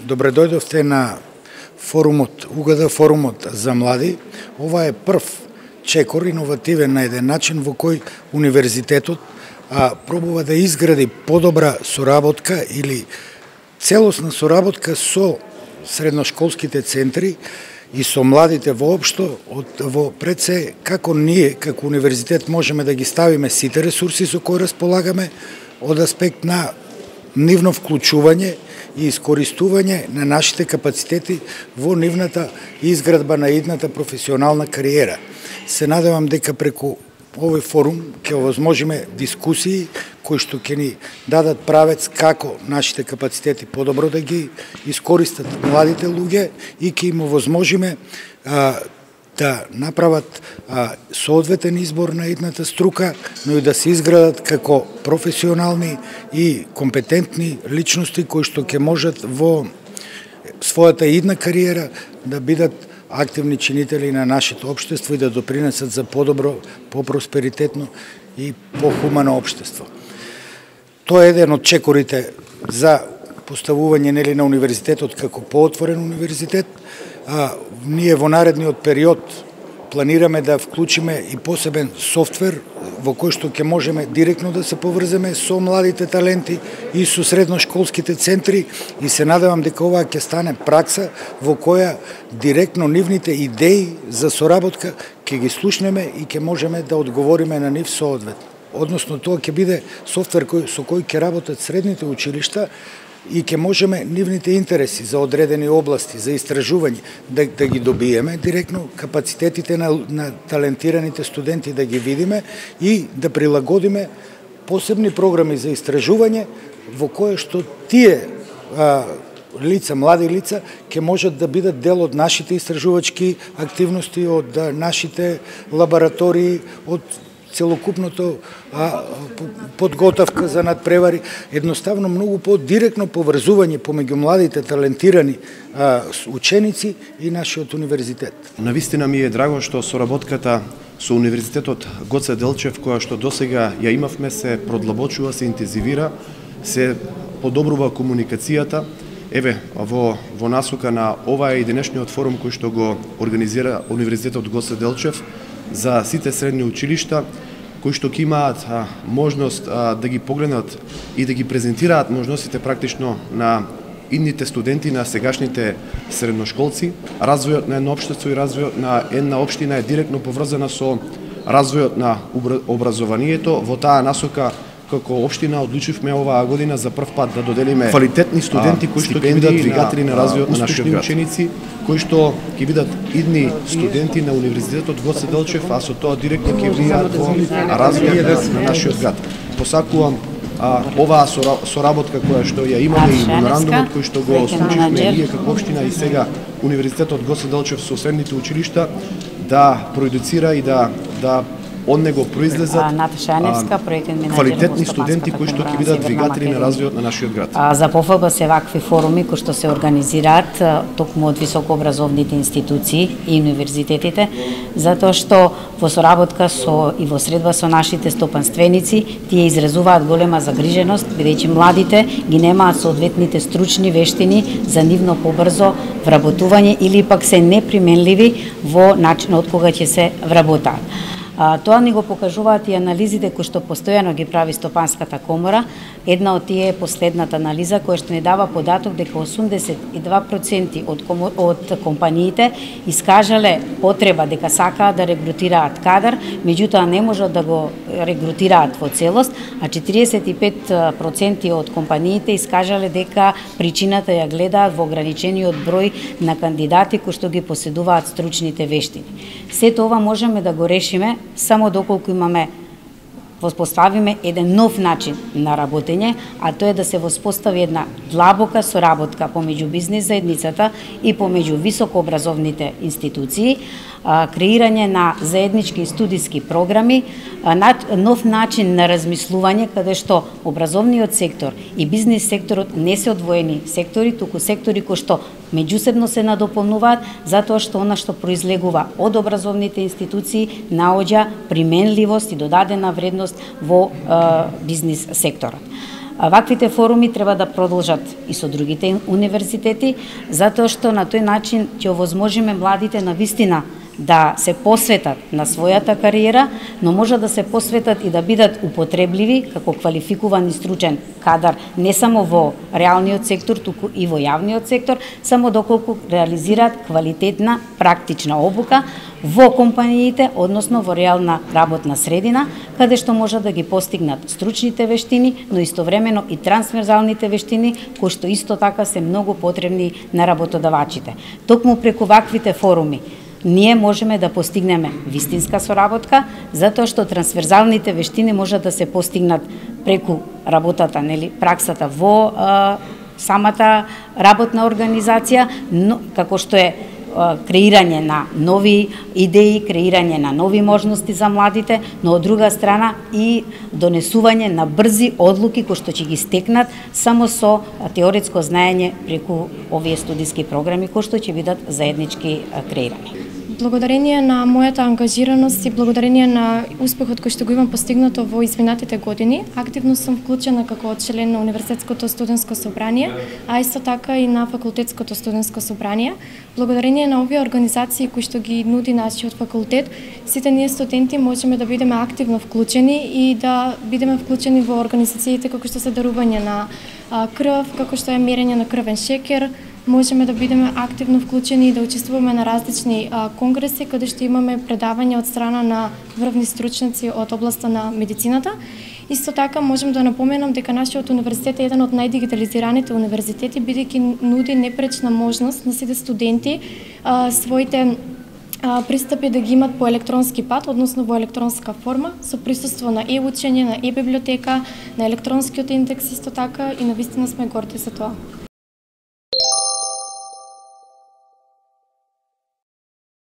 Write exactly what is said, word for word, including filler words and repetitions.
Добре дојдовте на форумот, УГД форумот за млади. Ова е прв чекор, иновативен на еден начин во кој универзитетот а, пробува да изгради подобра соработка или целосна соработка со средношколските центри и со младите воопшто, од, во пред се како ние, како универзитет, можеме да ги ставиме сите ресурси со кои располагаме од аспект на нивно вклучување и искористување на нашите капацитети во нивната изградба на идната професионална кариера. Се надевам дека преку овој форум ќе овозможиме дискусии кои што ќе ни дадат правец како нашите капацитети подобро да ги искористат младите луѓе и ќе им овозможиме а, да направат а, соодветен избор на идната струка, но и да се изградат како професионални и компетентни личности кои што ќе можат во својата идна кариера да бидат активни чинители на нашето општество и да допринесат за подобро, по-просперитетно и по-хумано општество. Тоа е еден од чекорите за поставување нели на универзитетот како поотворен универзитет. А, ние во наредниот период планираме да вклучиме и посебен софтвер во кој што ќе можеме директно да се поврземе со младите таленти и со средношколските центри и се надевам дека ова ќе стане пракса во која директно нивните идеи за соработка ќе ги слушнеме и ќе можеме да одговориме на нив соодветно. Односно тоа ќе биде софтвер кој, со кој ќе работат средните училишта и ќе можеме нивните интереси за одредени области, за истражување, да, да ги добиеме директно, капацитетите на, на талентираните студенти да ги видиме и да прилагодиме посебни програми за истражување во кое што тие а, лица, млади лица, ќе можат да бидат дел од нашите истражувачки активности, од а, нашите лаборатории, од целокупното а, подготовка за надпревари, едноставно многу по-директно поврзување помеѓу младите талентирани а, ученици и нашиот универзитет. Навистина ми е драго што соработката со Универзитетот Гоце Делчев, која што досега ја имавме, се продлабочува, се интензивира, се подобрува комуникацијата. Еве, во, во насока на ова е и денешниот форум кој што го организира Универзитетот Гоце Делчев за сите средни училишта, кои што ќе имаат а, можност а, да ги погледнат и да ги презентираат можностите практично на идните студенти, на сегашните средношколци. Развојот на едно општество и развојот на една општина е директно поврзана со развојот на образованието. Во таа насока, како општина, одлучивме оваа година за прв пат да доделиме квалитетни студенти кои што ќе бидат двигатели на развојот на нашиот град, ученици кои што ќе бидат идни студенти на Универзитетот Гоце Делчев, а со тоа директно ќе влијаат во развојот на нашиот град. Посакувам а, оваа соработка која што ја имаме и меморандумот кој што го случивме ние како општина и сега Универзитетот Гоце Делчев со средните училишта да продуцира и да да од него произлезат а, квалитетни студенти кои што ќе бидат двигатели на развојот на нашиот град. А, за пофаба се вакви форуми кои што се организираат токму од високообразовните институции и универзитетите, затоа што во соработка со и во средба со нашите стопанственици тие изразуваат голема загриженост бидејќи младите ги немаат соодветните стручни вештини за нивно побрзо вработување или пак се неприменливи во начинот кога ќе се вработаат. А, тоа ни го покажуваат и анализите кои што постојано ги прави Стопанската комора. Една од тие е последната анализа која што ни дава податок дека осумдесет и два проценти од, од компаниите искажале потреба дека сакаат да регрутираат кадар, меѓутоа не можат да го регрутираат во целост, а четиридесет и пет проценти од компаниите искажале дека причината ја гледаат во ограничениот број на кандидати кои што ги поседуваат стручните вештини. Сето ова можеме да го решиме само доколку имаме воспоставиме еден нов начин на работење, а тоа е да се воспостави една длабока соработка помеѓу бизнис заедницата и помеѓу високообразовните институции, креирање на заеднички студиски програми, нов начин на размислување каде што образовниот сектор и бизнис секторот не се одвоени сектори, туку сектори кои што меѓусебно се надополнуваат, затоа што она што произлегува од образовните институции наоѓа применливост и додадена вредност во е, бизнис секторот. А ваквите форуми треба да продолжат и со другите универзитети, затоа што на тој начин ќе овозможиме младите на вистина да се посветат на својата кариера, но може да се посветат и да бидат употребливи како квалификуван и стручен кадар не само во реалниот сектор, туку и во јавниот сектор, само доколку реализираат квалитетна практична обука во компаниите, односно во реална работна средина, каде што може да ги постигнат стручните вештини, но истовремено и трансверзалните вештини, кои што исто така се многу потребни на работодавачите. Токму преку ваквите форуми ние можеме да постигнеме вистинска соработка, затоа што трансверзалните вештини може да се постигнат преку работата, нели, праксата во а, самата работна организација, но како што е а, креирање на нови идеи, креирање на нови можности за младите, но од друга страна и донесување на брзи одлуки кои што ќе ги стекнат само со теоретско знаење преку овие студиски програми кои што ќе бидат заеднички а, креирани. Благодарение на мојата ангажираност и благодарение на успехот кој што го имам постигнато во изминатите години, активно сум вклучена како член на Универзитетското студентско собрание, а исто така и на Факултетското студентско собрание. Благодарение на овие организации кои што ги нуди нашиот факултет, сите ние студенти можеме да бидеме активно вклучени и да бидеме вклучени во организациите како што се дарување на крв, како што е мерење на крвен шекер. Можеме да бидеме активно вклучени и да учествуваме на различни а, конгреси, каде што имаме предавања од страна на врвни стручници од областа на медицината. Исто така можам да напоменам дека нашиот универзитет е еден од најдигитализираните универзитети, бидејќи нуди непречна можност на сите студенти а, своите а, пристапи да ги имат по електронски пат, односно во електронска форма, со присуство на е-учење, на е-библиотека, на електронскиот индекс исто така, и навистина сме горди за тоа.